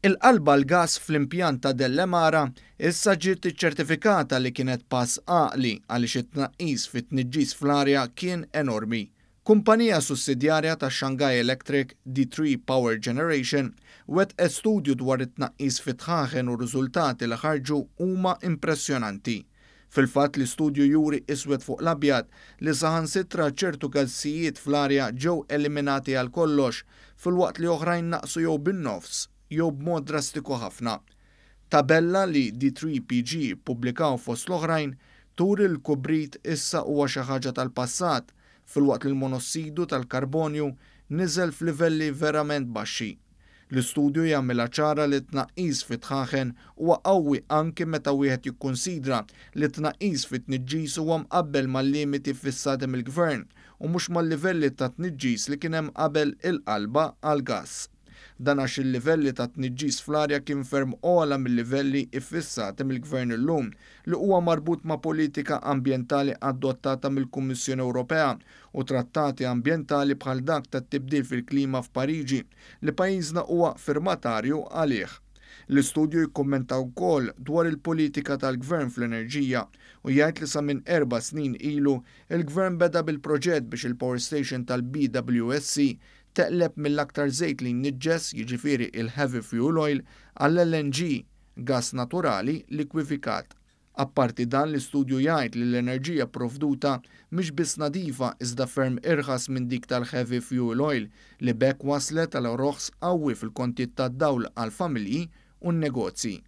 Il-qalba għall-gass fl-impjant ta' Dellemara issa ġiet iċċertifikata li kienet pass għaqli għaliex it-tnaqqis fit-tniġġis fl-arja kien enormi. Kumpanija sussidjarja ta' Shanghai Electric, D3 Power Generation, wettqet studju dwar it-tnaqqis fit-dħaħen u r-riżultati li ħarġu huma impressjonanti. Fil-fatt l-istudju juri iswed fuq l-abjad li saħansitra ċertu gassijiet fl-arja ġew eliminati għal kollox filwaqt li oħrajn naqsu jew bin-nofs jew b'mod drastiku ħafna. Tabella li D3PG ppubblikaw fost l-oħrajn turi l-kubrit issa huwa xi ħaġa tal-passat filwaqt li l-monossidu tal-karbonju niżel f'livelli verament baxxi. L-istudju jagħmilha ċara li t-tnaqqis fit-dħaħen huwa qawwi anki meta wieħed jikkunsidra li t-tnaqqis fit-tniġġis huwa mqabbel mal-limiti ffissati mill-Gvern u mhux mal-livelli ta' tniġġis li kien hemm qabel il-qalba għall-gass. Dan għax il-livelli ta' tniġġis fl-arja kien ferm ogħla mil-livelli iffissati mill-Gvern illum, li huwa marbut ma' politika ambjentali adottata mill-Kummissjoni Ewropea u trattati ambjentali bħal dak tat-tibdil fil-klima f'Pariġi li pajjiżna huwa firmatarju għalih. L-istudju jikkummenta wkoll dwar il-politika tal-Gvern fl-enerġija u jgħid li sa minn 4 snin ilu il-Gvern beda bil-proġett biex il-power station tal-BWSC teqleb mill-aktar żejt li jniġġes, jiġifieri il-heavy fuel oil, għall-LNG, gas naturali likwifikat. Apparti dan, l-istudju jgħid li l-enerġija provduta mhix biss nadifa iżda ferm irħas minn dik tal-heavy fuel oil, li b'hekk waslet għal roħs qawwi fil-kontijiet tad-dawl għal familji u n-negozji.